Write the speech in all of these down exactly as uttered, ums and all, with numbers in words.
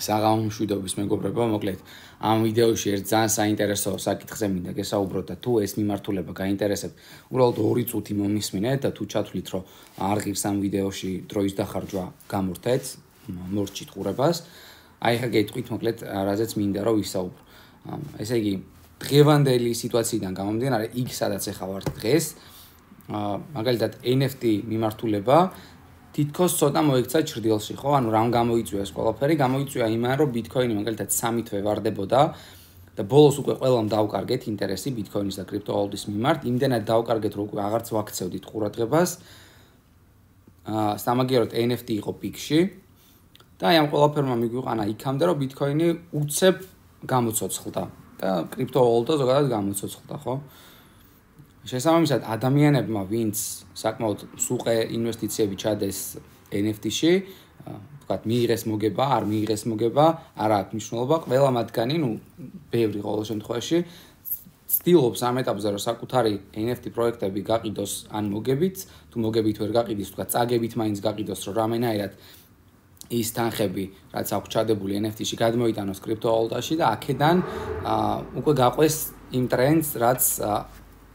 საღამო მშვიდობის მეგობრებო, მოკლედ ამ ვიდეოში ერთ ძალიან საინტერესო საკითხზე მინდა გესაუბროთ და თუ ეს მიმართულება გაინტერესებთ, უბრალოდ ორი წუთი მომისმინეთ და თუ ჩათვლით, რომ არ ღირს ამ ვიდეოში დროის დახარჯვა გამორთეთ, მორჩით ყურებას, აი ხა გეტყვით მოკლედ რაზეც მინდა რომ ვისაუბრო. ესე იგი, დღევანდელი სიტუაციიდან გამომდინარე, იქ სადაც ახლა ვართ დღეს, მაგალითად ენ ეფ ტი მიმართულება თითქოს ცოტა მოიქცა ჩრდილში, ხო? ანუ რამ გამოიწვია ეს ყველაფერი? გამოიწვია იმან, რომ ბიტკოინი მაგალითად სამი თვე ვარდებოდა და ბოლოს უკვე ყველამ დაუკარგეთ ინტერესი ბიტკოინის და კრიპტოვალუტის მიმართ. იმდენად დაუკარგეთ, რომ უკვე აღარც ვაქცევდით ყურადღებას. აა, სამაგიეროდ ენ ეფ ტი იყო პიკში და აი ამ ყველაფერმა მიგვიყანა იქამდე, რომ ბიტკოინი უცებ გამოცოცხლდა და კრიპტოვალუტა ზოგადად გამოცოცხლდა, ხო? შესაბამისად, ადამიანებმა, ვინც საკმაოდ სუყე ინვესტიციები ჩადეს ენ ეფ ტი-ში, ვთქვათ, მიიღეს მოგება, არ მიიღეს მოგება, არ აქვს მნიშვნელობა, ყველა მათგანი, ну, ბევრი ყოველ შემთხვევაში, ცდილობს ამ ეტაპზე, რომ საკუთარი ენ ეფ ტი პროექტები გაყიდოს ან მოგებით, თუ მოგებით ვერ გაყიდის, ვთქვათ, წაგებით მაინც გაყიდოს, რომ რამენაირად ის თანხები, რაც აქვს ჩადებული ენ ეფ ტი-ში, გადმოიტანოს კრიპტოვალუტაში და აქედან უკვე გაყვეს იმ ტრენდს, რაც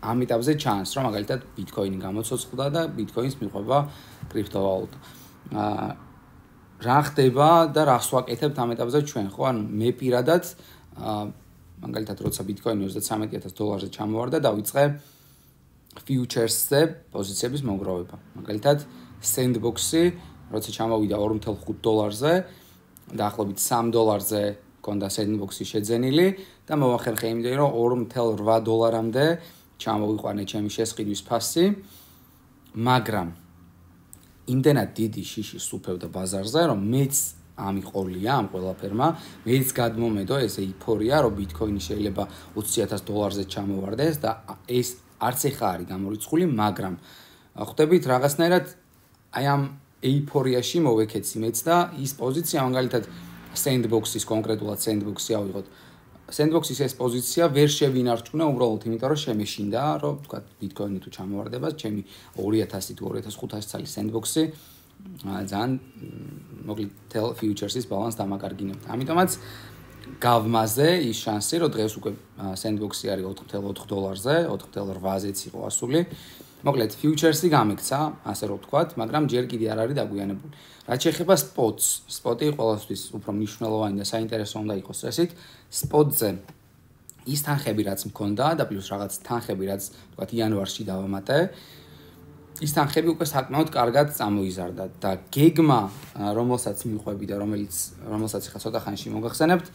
ამ ეტაპზე ჩანს, რომ მაგალითად ბიტკოინი გამოცოცხლდა და ბიტკოინს მიყვება კრიპტოვალუტა. აა რა ხდება და რას ვაკეთებთ ამ ეტაპზე ჩვენ, ხო? ანუ მე პირადად აა მაგალითად როცა ბიტკოინი ოცდათსამეტი ათასი დოლარზე ჩამოვარდა, დავიწყე ფიუჩერსზე პოზიციების მოგროვება. მაგალითად სენდბოქსი როცა ჩამოვიდა ორი ნული ხუთი დოლარზე, დაახლოებით სამი დოლარზე მქონდა სენდბოქსი შეძენილი და მოვახერხე იმდენი, რომ ორი ნული რვა დოლარამდე ჩამოვიყვანე ჩემი შესყიდვის ფასი, მაგრამ იმდენად დიდი შიში სუფევდა ბაზარზე, რომ მეც ამიყოლია ამ ყველაფერმა, მეც გადმომედო ეს ეიფორია, რომ ბიტკოინი შეიძლება ოცი ათასი დოლარზე ჩამოვარდეს და ეს არც ეხა არის გამორიცხული, მაგრამ ხვდებით რაღაცნაირად აი ამ ეიფორიაში მოვეკეცი მეც და ის პოზიცია მაგალითად სენდბოქსის კონკრეტულად სენდბოქსი ავიღოთ. სენდბოქსის ეს პოზიცია ვერ შევინარჩუნა უბრალოდ იმიტომ, რომ შემეშინდა, რომ თქვა ბიტკოინი თუ ჩამოვარდება, ჩემი ორი ათასი თუ ორი ათას ხუთასი წლის სენდბოქსი ძალიან მოკლედ თელ ფიუჩერსის ბალანსს დამაკარგინებდა. ამიტომაც გავმაზე ის შანსი, რომ დღეს უკვე სენდბოქსი არის ოთხი ნული ოთხი დოლარზე, ოთხი ნული რვაზეც იყო ასული. მოკლედ ფიუჩერსი გამექცა, ასე რომ ვთქვათ, მაგრამ ჯერ კიდე არ არის დაგვიანებული. რაც შეეხება სპოტს, სპოტი ყველასთვის უფრო მნიშვნელოვანი და საინტერესო უნდა იყოს ესეთ სპოტზე ის თანხები რაც მქონდა და პლუს რაღაც თანხები რაც ვთქვათ იანვარში დავამატე, ის თანხები უკვე საკმაოდ კარგად წამოიზარდა და გეგმა, რომელსაც მიყვები და რომელიც რომელსაც ახლა ცოტა ხანში მოგახსენებთ,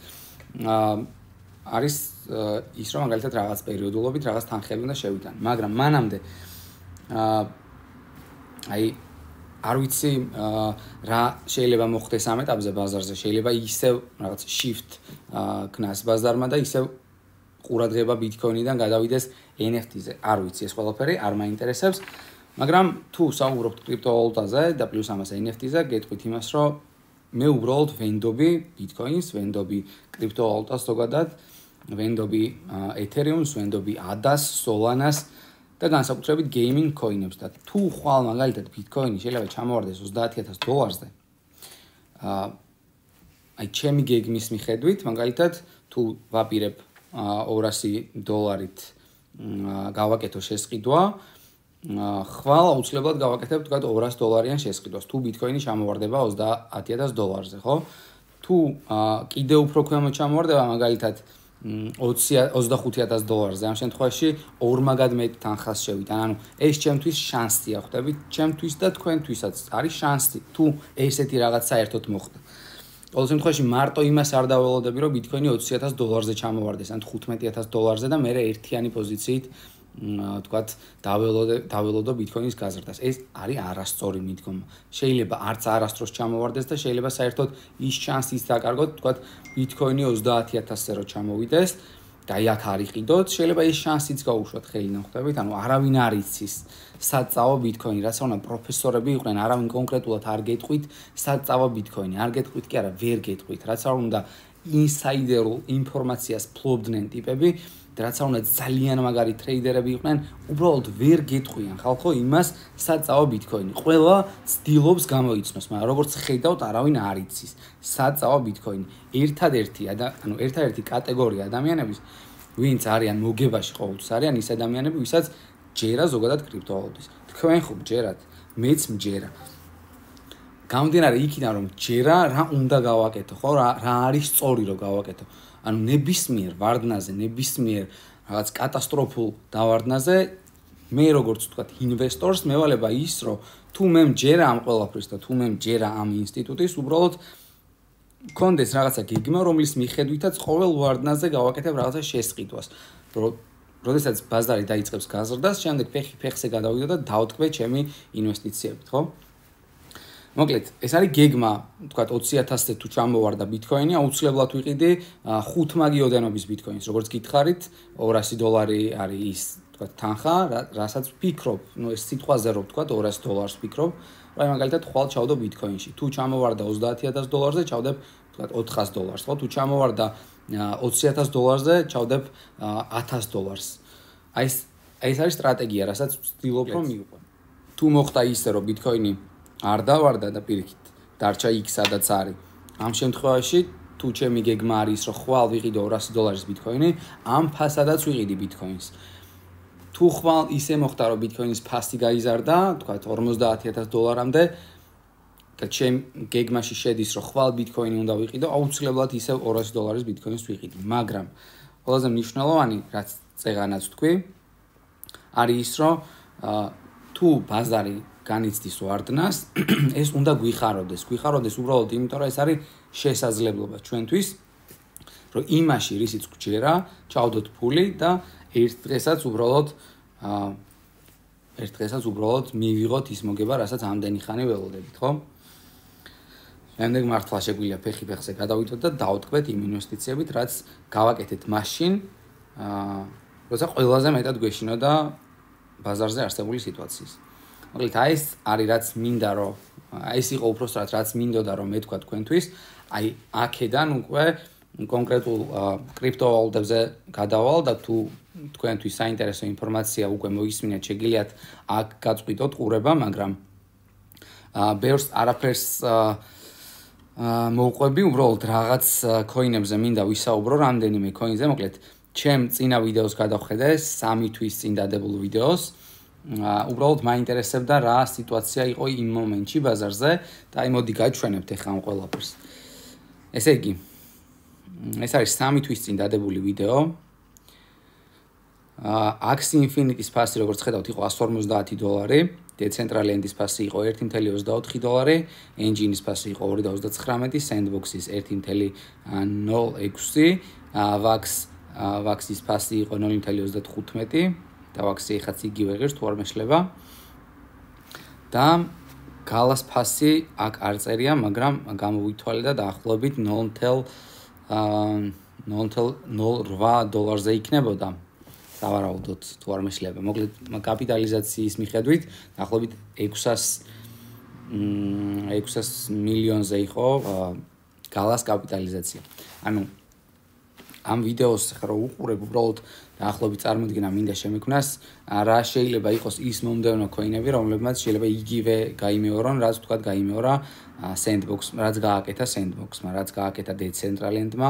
არის ის რომ მაგალითად რაღაც პერიოდულობით რაღაც თანხები უნდა შევიტანო, მაგრამ მანამდე აა აი არ ვიცი რა შეიძლება მოხდეს ამ ეტაპზე ბაზარზე, შეიძლება ისევ რაღაც shift ქნას ბაზარმა და ისევ ყურადღება ბიტკოინიდან გადავიდეს ენ ეფ ტი-ზე. არ ვიცი ეს ყველაფერი, არ მაინტერესებს, მაგრამ თუ საუბრობთ კრიპტოვალუტაზე და პლუს ამას ენ ეფ ტი-ზე, გეტყვით იმას, რომ მე უბრალოდ ვენდობი ბიტკოინს, ვენდობი კრიპტოვალუტას ზოგადად, ვენდობი ეთერიუმს, ვენდობი ადას, სოლანას და განსაკუთრებით გეიმინგ კოინებს და თუ ხვალ მაგალითად ბიტკოინი შეიძლება ჩამოვარდეს ოცდაათი ათასი დოლარზე. აა აი ჩემი გეგმის მიხედვით, მაგალითად თუ ვაპირებ ორასი დოლარით გავაკეთო შესყიდვა, ხვალ აუცილებლად გავაკეთებ თქვათ ორასი დოლარიან შესყიდვას. თუ ბიტკოინი ჩამოვარდება ოცდაათი ათასი დოლარზე, ხო? თუ კიდევ უფრო ქვემო ჩამოვარდება, მაგალითად ოცდახუთი ათასი დოლარზე, ამ შემთხვევაში ორმაგად მეტ თანხას შევიტან. ანუ ეს ჩემთვის შანსია, ხვდებით? ჩემთვის და თქვენთვისაც არის შანსი, თუ ესეთი რაღაც საერთოდ მოხდა. ყოველ შემთხვევაში მარტო იმას არ დაველოდები, რომ ბიტკოინი ოცი ათასი დოლარზე ჩამოვარდეს, ან თხუთმეტი ათასი დოლარზე და მე ერთიანი პოზიციით თქვათ დაველოდე დაველოდო ბიტკოინის გაზრდას. ეს არის არასწორი მიდგომა. შეიძლება არც არასდროს ჩამოვარდეს და შეიძლება საერთოდ ის შანსიც დაკარგოთ, თქვათ ბიტკოინი ოცდაათი ათასზე რო ჩამოვიდეს და აი აქ არ იყიდოთ, შეიძლება ეს შანსიც გაუშვათ ხელიდან, ხვდებით? ანუ არავინ არ იცის სად წავა ბიტკოინი, რაც უნდა პროფესორები იყვნენ, არავინ კონკრეტულად არ გეტყვით, სად წავა ბიტკოინი, არ გეტყვით კი არა, ვერ გეტყვით, რაც უნდა ინსაიდერულ ინფორმაციას ფლობდნენ ტიპები, რაც უნდა ძალიან მაგარი ტრეიდერები იყვნენ, უბრალოდ ვერ გეტყვიან ხალხო იმას, სად წავა ბიტკოინი. ყველა ცდილობს გამოიცნოს, მაგრამ როგორც ხედავთ, არავინ არ იცის, სად წავა ბიტკოინი. ერთადერთი, ანუ ერთადერთი კატეგორია ადამიანების, ვინც არიან მოგებაში ყოველთვის არიან ის ადამიანები, ვისაც ჯერა ზოგადად კრიპტოვალუტის. თქვენ ხო ჯერათ, მეც მჯერა. გამომდინარე იქიდან რომ ჯერა რა უნდა გავაკეთო, ხო? რა რა არის სწორი რომ გავაკეთო. ანუ ნებისმიერ ვარდნაზე, ნებისმიერ რაღაც კატასტროფულ დავარდნაზე მე როგორც ვთქვათ, ინვესტორს მევალება ის, რომ თუ მე მჯერა ამ ყველაფრის და თუ მე მჯერა ამ ინსტიტუტის, უბრალოდ კონდეს რაღაცა გეგმა, რომლის მიხედვითაც ყოველ ვარდნაზე გავაკეთებ რაღაცა შესყიდვას. როდესაც ბაზარი დაიწყებს გაზრდას, შემდეგ ფეხი ფეხზე გადავიდო და დავტკვე ჩემი ინვესტიციებით, ხო? მოკლედ, ეს არის გეგმა, თქვათ ოცი ათასზე თუ ჩამოვარდა ბიტკოინი, აუცილებლად ვიყიდი ხუთ მაგი ოდენობის ბიტკოინს, როგორც გითხარით, ორასი დოლარი არის ის, თქვათ, თანხა, რასაც ვფიქრობ, ნუ ეს სიტყვაზე რომ ვთქვათ, ორასი დოლარს ვფიქრობ, რა მაგალითად ხვალ ჩავდო ბიტკოინში. თუ ჩამოვარდა ოცდაათი ათასი დოლარზე, ჩავდებ, თქვათ, ოთხასი დოლარს, ხო? თუ ჩამოვარდა ოცი ათასი დოლარზე, ჩავდებ ათასი დოლარს. აი ეს ეს არის სტრატეგია, რასაც ვცდილობ რომ მივყვე. თუ მოხდა ისე, რომ ბიტკოინი არ დავარდა და პირიქით დარჩა იქ სადაც არის. ამ შემთხვევაში თუ ჩემი გეგმა არის რომ ხვალ ვიყიდო ორასი დოლარის ბიტკოინი, ამ ფასადაც ვიყიდი ბიტკოინს. თუ ხვალ ისე მოხდა რომ ბიტკოინის ფასი გაიზარდა, თქვათ ორმოცდაათი ათასი დოლარამდე და ჩემ გეგმაში შედის რომ ხვალ ბიტკოინი უნდა ვიყიდო, აუცილებლად ისევ ორასი დოლარის ბიტკოინს ვიყიდი. მაგრამ ყველაზე მნიშვნელოვანი რაც წეღანაც თქვი არის ის რომ თუ ბაზარი განიცდის ვარდნას, ეს უნდა გვიხაროდეს. გვიხაროდეს უბრალოდ იმიტომ, რომ ეს არის შესაძლებლობა ჩვენთვის, რომ იმაში რისიც გვჯერა, ჩავდოთ ფული და ერთ დღესაც უბრალოდ ერთ დღესაც უბრალოდ მივიღოთ ის მოგება, რასაც ამდენი ხანი ველოდებით, ხო? შემდეგ მართლა შეგვიძლია ფეხი ფეხზე გადავიდოთ და დავტკვეთ იმ ინვესტიციებით, რაც გავაკეთეთ მაშინ, როცა ყველაზე მეტად გვეშინოდა ბაზარზე არსებული სიტუაციის. მოკლედ აი ეს არის რაც მინდა რომ აი ეს იყო უბრალოდ რაც მინდოდა რომ მე თქვა თქვენთვის, აი აქედან უკვე კონკრეტულ კრიპტოვალუტებზე გადავალ და თუ თქვენთვის საინტერესო ინფორმაცია უკვე მოისმინეთ, შეგიძლიათ აქ გაწყვიტოთ ყურება, მაგრამ ბევრს არაფერს მოვყვები, უბრალოდ რაღაც კოინებზე მინდა ვისაუბრო, რამდენიმე კოინზე, მოკლედ ჩემ წინა ვიდეოს გადავხედე, სამი თვის წინ დადებულ ვიდეოს. უბრალოდ მაინტერესებდა რა სიტუაცია იყო იმ მომენტში ბაზარზე და აი მოდი გაჩვენებთ ახლა ამ ყველაფერს. ესე იგი, ეს არის სამი თვის წინ დადებული ვიდეო. Axie Infinity-ის ფასი, როგორც ხედავთ, იყო εκατს ორმოცდაათი დოლარი, Decentraland-ის ფასი იყო ერთი წუთი ოცდაოთხი დოლარი, Engine-ის ფასი იყო ორი წუთი ოცდათხრამეტი, Sandbox-ის ერთი წუთი ნოლ ექვსი, Vax Vax-ის ფასი იყო ნული წუთი ოცდათხუთმეტი. და ვაქსი ხაც იგივე ღირს თუ არ მეშლება. და გალას ფასი აქ არ წერია, მაგრამ გამოვითვალე და დაახლოებით ნულ წუთი ნულ ოთხ დოლარზე იქნებოდა. დავარაუდოთ თუ არ მეშლება. მოკლედ კაპიტალიზაციის მიხედვით დაახლოებით ექვსასი მილიონზე იყო გალას კაპიტალიზაცია. ანუ ამ ვიდეოს ხა რო უყურებ, უბრალოდ დაახლოებით წარმოგიდგენა მინდა შემექმნას, რა შეიძლება იყოს ის მომდევნო კოინები, რომლებმაც შეიძლება იგივე გაიმეორონ, რაც თქვათ გაიმეორა Sandbox, რაც გააკეთა Sandbox-მა, რაც გააკეთა Decentraland-მა,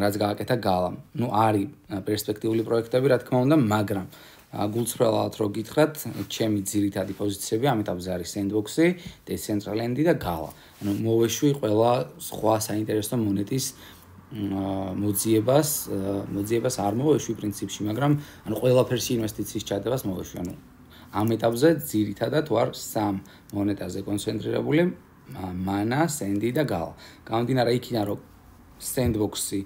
რაც გააკეთა Gala-მ. ნუ არის პერსპექტიული პროექტები, რა თქმა უნდა, მაგრამ გულწრფელად რო გითხრათ, ჩემი ძირითადი პოზიციები ამ ეტაპზე არის Sandbox-ი, Decentraland-ი და Gala. ანუ მოვეშვი ყველა სხვა საინტერესო მონეტის მოძიებას, მოძიებას არ მოვეშვი პრინციპში, მაგრამ ანუ ყველაფერში ინვესტიციის ჩადებას მოვეშვი. ანუ ამ ეტაპზე ძირითადად ვარ სამ მონეტაზე კონცენტრირებული, Mana, Sandy და Gala. გამომდინარე იქიდან, რომ Sandbox-ი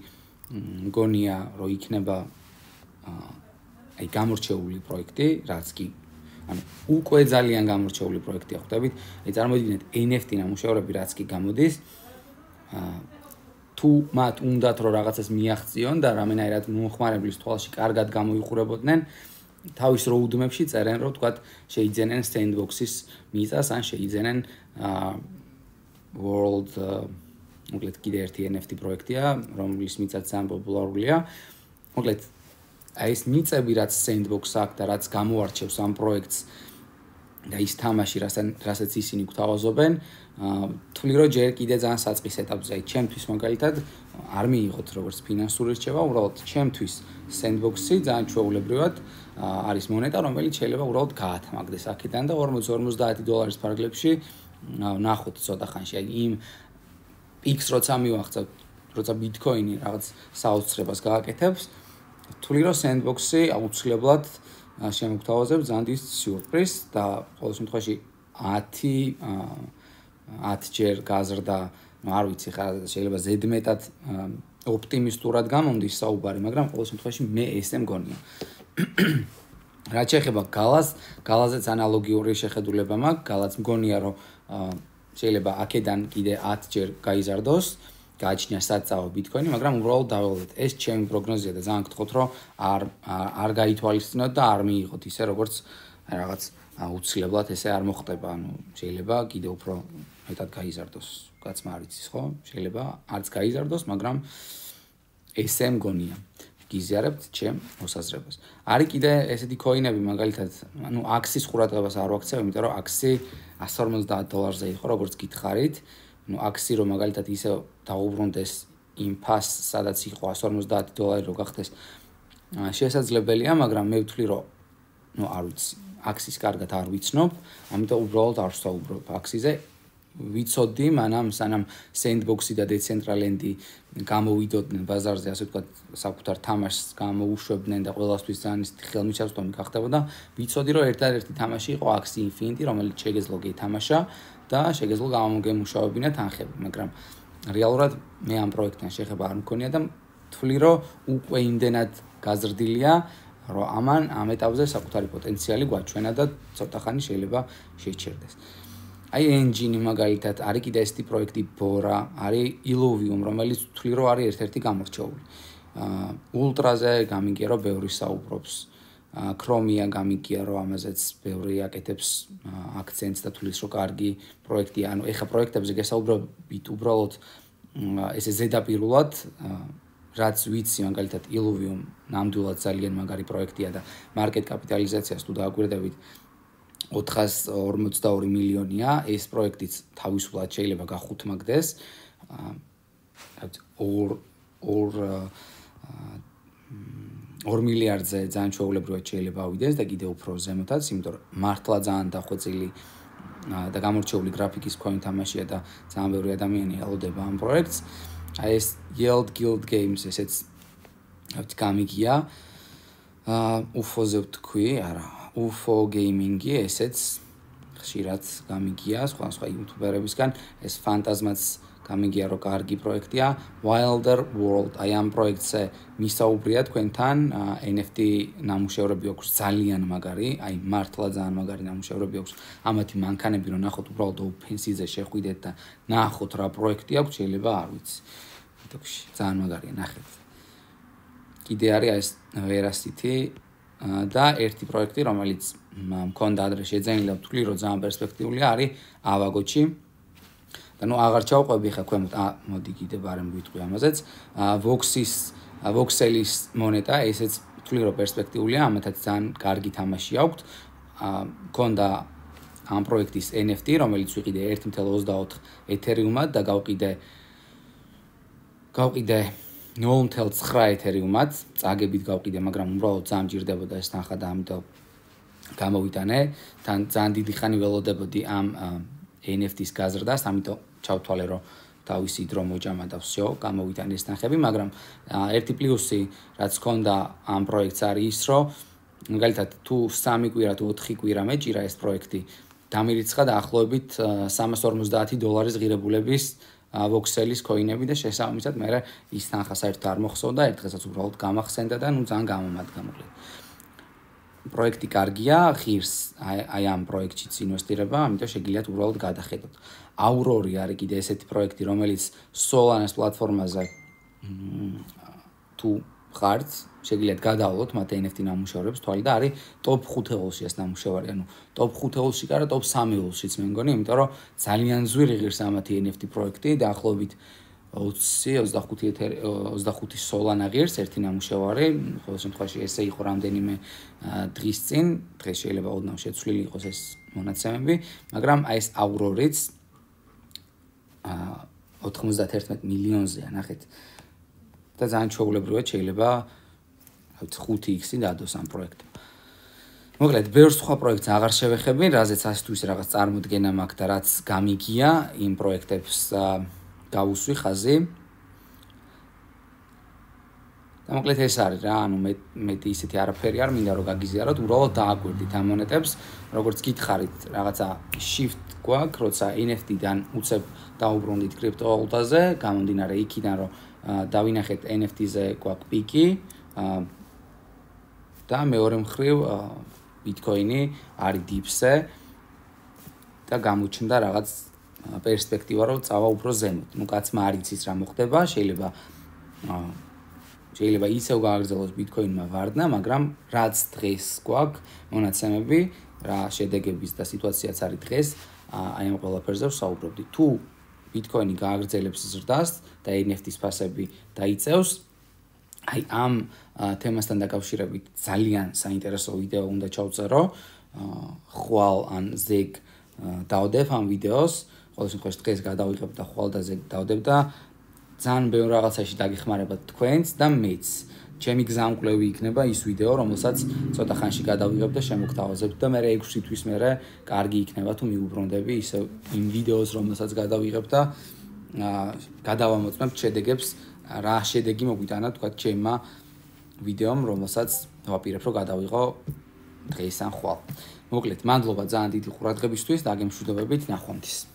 მგონია, რომ იქნება აი გამორჩეული პროექტი, რაც კი ანუ უკვე ძალიან გამორჩეული პროექტია, ხვდებით? აი წარმოვიდგინეთ ენ ეფ ტი ნამუშევრები, რაც კი გამოდის, თუ მათ უნდათ რომ რაღაცას მიაღწიონ და რამენაირად მომხმარებლის თვალში კარგად გამოიყურებოდნენ, თავის roadmap-ში წერენ, რომ თქვათ შეიძენენ sandbox-ის მიწას, ან შეიძენენ world მოკლედ კიდე ერთი N F T პროექტია, რომლის მიწაც ძალიან პოპულარულია. მოკლედ აი ეს მიწები, რაც sandbox აქვს და რაც გამოარჩევს ამ პროექტს და ის თამაში, რასაც ისინი გვთავაზობენ, თვლი რომ ჯერ კიდე ძალიან საწყის ეტაპზე, აი ჩემთვის მაგალითად არ მიიღოთ როგორც ფინანსური რჩევა, უბრალოდ ჩემთვის sandbox-ი ძალიან ჩვეულებრივად არის მონეტა, რომელიც შეიძლება უბრალოდ გაათმაგდეს აქედან და ორმოცი ორმოცდაათი დოლარის ფარგლებში ნახოთ ცოტა ხანში. აი იმ X როცა მივახცევთ, როცა Bitcoin-ი რაღაც საოცრებას გააკეთებს, თვლი რომ sandbox-ი აუცილებლად შემოგთავაზებს ძალიან დიდ სიურპრიზს და ყოველ შემთხვევაში ათი ათჯერ გაზრდა, ну არ ვიცი ხა შეიძლება ზედმეტად ოპტიმისტურად გამომდის საუბარი, მაგრამ ყოველ შემთხვევაში მე ესე მგონია. რაც შეეხება გალას, გალაზეც ანალოგიური შეხედულება მაქვს, გალაც მგონია რომ შეიძლება აქედან კიდე ათჯერ გაიზარდოს, გააჩნია საწაო Bitcoin-ი, მაგრამ უბრალოდ დაველოდეთ. ეს ჩემი პროგნოზია და ძალიან გთხოვთ, რომ არ არ გაითვალისწინოთ და არ მიიღოთ ისე როგორც რაღაც აუცილებლად ესე არ მოხდება, ანუ შეიძლება კიდე უფრო მეტად გაიზარდოს. კაცმა არ იცის, ხო? შეიძლება არც გაიზარდოს, მაგრამ ესე მგონია. გიზიარებთ ჩემ მოსაზრებას. არის კიდე ესეთი coin-ები, მაგალითად, ანუ აქსის ყურადღებას არ ვაქცევ, იმიტომ რომ აქსი εκατს ორმოცდაათ დოლარზე იყო, როგორც გითხარით. ну აქსი რომ მაგალითად ისე დაუბრუნდეს იმ ფასს, სადაც იყო εκατს ორმოცდაათი დოლარი რო გახდეს შესაძლებელია, მაგრამ მე ვთვლი რომ ну არ ვიცი, აქსის კარგად არ ვიცნობ, ამიტომ უბრალოდ არ ვსაუბრობ აქსიზე. ვიცოდი, მანამ სანამ sandbox-ი და decentraland-ი გამოვიდოდნენ ბაზარზე, ასე ვთქვათ, საკუთარ თამაშს გამოუშვებდნენ და ყველასთვის ძალიან ხელმისაწვდომი გახდებოდა, ვიცოდი რომ ერთადერთი თამაში იყო Axie Infinity, რომელიც შეგეძლო გეთამაშა და შეგეძლო გამოგემუშავებინა თანხები, მაგრამ რეალურად მე ამ პროექტთან შეხება არ მქონია და ვთვლი რომ უკვე იმდენად გაზრდილია, რომ ამან ამ ეტაპზე საკუთარი პოტენციალი გვაჩვენა და ცოტა ხანი შეიძლება შეჩერდეს. აი engine მაგალითად არის კიდე ესეთი პროექტი Bora, არის Illuvium, რომელიც ვთვლი რომ არის ერთ-ერთი გამორჩეული. Ultra-ზე გამიგია რომ ბევრი საუბრობს. Chromia გამიგია რომ ამაზეც ბევრი აკეთებს აქცენტს და თulis რომ კარგი პროექტია. ანუ ეხა პროექტებზე გესაუბრებით უბრალოდ ესე ზედაპირულად, რაც ვიცი მაგალითად Illuvium ნამდვილად ძალიან მაგარი პროექტია და მარკეტ კაპიტალიზაციას თუ დააკვირდებით ოთხას ორმოცდაორი მილიონია, ეს პროექტიც თავისუფლად შეიძლება გახუთმაგდეს. ორ ორ ორ მილიარდზე ძალიან ჩვეულებრივად შეიძლება ავიდეს და კიდევ უფრო ზემოთაც, იმიტომ რომ მართლა ძალიან დახვეწილი და გამორჩეული გრაფიკის მქონე თამაშია და ძალიან ბევრი ადამიანი ელოდება ამ პროექტს. აი ეს Yield Guild Games ესეც ავთ გამიგია. U F O-ზე ვთქვი, არა, U F O Gaming-ი ესეც ხშირად გამიგია სხვა სხვა იუთუბერებისგან, ეს ფანტაზმაც გამიგია რომ კარგი პროექტია. Wilder World, აი ამ პროექტზე მისაუბრია თქვენთან, N F T ნამუშევრები აქვს ძალიან მაგარი, აი მართლა ძალიან მაგარი ნამუშევრები აქვს. ამათი მანქანები რომ ნახოთ უბრალოდ OpenSea-ზე შეხვიდეთ და ნახოთ რა პროექტი აქვს, შეიძლება არ ვიცი. თქოში, ძალიან მაგარია, ნახეთ. კიდე არის ეს Veracity და ერთი პროექტი, რომელიც მქონდა ადრე შეძენილი და ვთვლი რომ ძალიან პერსპექტიულია, არის Avago-ში. და ნუ აღარ ჩავყვები ხა ქვემოთ, ა მოდი კიდე ბარემ ვიტყვი ამაზეც. Vox-ის Voxel-ის მონეტა, ესეც ვთვლი რომ პერსპექტიულია, ამათაც ძალიან კარგი თამაში აქვს. მქონდა ამ პროექტის N F T, რომელიც ვიყიდე ერთი კoma ოცდაოთხ ეთერიუმად და გავყიდე გავყიდე ნულ კoma ცხრა ეთერიუმად, წაგებით გავყიდე, მაგრამ უბრალოდ ძალიან მჭირდებოდა ეს თანხა და ამიტომ გამოვიტანე. თან ძალიან დიდი ხანი ველოდებოდი ამ N F T-ის გაზრდას, ამიტომ ჩავთვალე რომ თავისი დრო მოჯამა და всё, გამოვიტანე ეს თანხები, მაგრამ ერთი პლუსი რაც ჰქონდა ამ პროექტს არის ის, რომ მაგალითად თუ სამი კვირა თუ ოთხი კვირა მეჭირა ეს პროექტი, დამირიცხა დაახლოებით სამას ორმოცდაათი დოლარის ღირებულების Voxel-ის coin-ები და შესაბამისად მე ის თანხა საერთოდ არ მოხსოვდა, ერთ დღესაც უბრალოდ გამახსენდა და ნუ ძალიან გამომადგა მოკლედ. პროექტი კარგია, ღირს აი ამ პროექტშიც ინვესტირება, ამიტომ შეგიძლიათ უბრალოდ გადახედოთ. Aurori არის კიდე ესეთი პროექტი, რომელიც Solana-ს პლატფორმაზე თუ ხართ, შეგიძლიათ გადავლოთ მათ ენ ეფ ტი ნამუშევრებს თვალი და არის ტოპ ხუთი ოლში ეს ნამუშევარი, ანუ ტოპ ხუთი ოლში კი არა, ტოპ სამი ოლშიც მე მგონი, იმიტომ რომ ძალიან ზვირი ღირს ამათი ენ ეფ ტი პროექტი, დაახლოებით ოცი ოცდახუთი სოლანა ღირს ერთი ნამუშევარი, ყოველ შემთხვევაში ესე იყო რამდენიმე დღის წინ, დღეს შეიძლება ოდნავ შეცვლილი იყოს ეს მონაცემები, მაგრამ აი ეს აურორიც ოთხმოცდაათერთმეტ მილიონზეა, ნახეთ. და ძალიან ჩვეულებრივად შეიძლება ხუთი იქსი დადოს ამ პროექტს. მოკლედ, ბევრ სხვა პროექტს აღარ შევეხები, რაზეც ასე თუ ისე რაღაც წარმოდგენა მაქვს და რაც გამიგია იმ პროექტებს გავუსვი ხაზი. და მოკლედ ეს არის რა, ანუ მე მეტი ისეთი არაფერი არ მინდა რომ გაგიზიაროთ, უბრალოდ დააკვირდით ამ მონეტებს, როგორც გითხარით, რაღაცა shift გვაქვს, როცა ენ ეფ ტი-დან უცებ დაუბრუნდით კრიპტოვალუტაზე, გამომდინარე იქიდან რომ დავინახეთ ენ ეფ ტი-ზე გვაქვს პიკი და მეორე მხრივ ბიტკოინი არის დიპზე და გამოჩნდა რაღაც პერსპექტივა რომ წავა უფრო ზემოთ. ნუ კაცმა არ იცის რა მოხდება, შეიძლება შეიძლება ისევ გააგრძელოს ბიტკოინმა ვარდნა, მაგრამ რაც დღეს გვაქვს მონაცემები, რა შედეგების და სიტუაციაც არის დღეს, აი ამ ყველაფერზე ვსაუბრობდი. თუ ბიტკოინი გააგრძელებს ზრდას და ენ ეფ ტის ფასები დაიწევს, აი ამ თემასთან დაკავშირებით ძალიან საინტერესო ვიდეო უნდა ჩავწერო. ხვალ ან ზეგ დავდებ ამ ვიდეოს, ყოველ შემთხვევაში დღეს გადავიღებ და ხვალ და ზეგ დავდებ და ძალიან ბევრ რაღაცაში დაგეხმარებათ თქვენც და მეც. ჩემი გზამკვლევი იქნება ის ვიდეო, რომელსაც ცოტა ხანში გადავიღებ და შემოგთავაზებ და მე ექვსი თვის მერე კარგი იქნება თუ მიუბრუნდები ისე იმ ვიდეოს, რომელსაც გადავიღებ და გადავამოწმებ შედეგებს, რა შედეგი მოგვიტანა თქვა ჩემმა ვიდეომ, რომელსაც ვაპირებ რომ გადავიღო დღეს ან ხვალ. მოკლედ, მადლობა ძალიან დიდი ყურადღებისთვის და გემშვიდობებით ნახვამდის.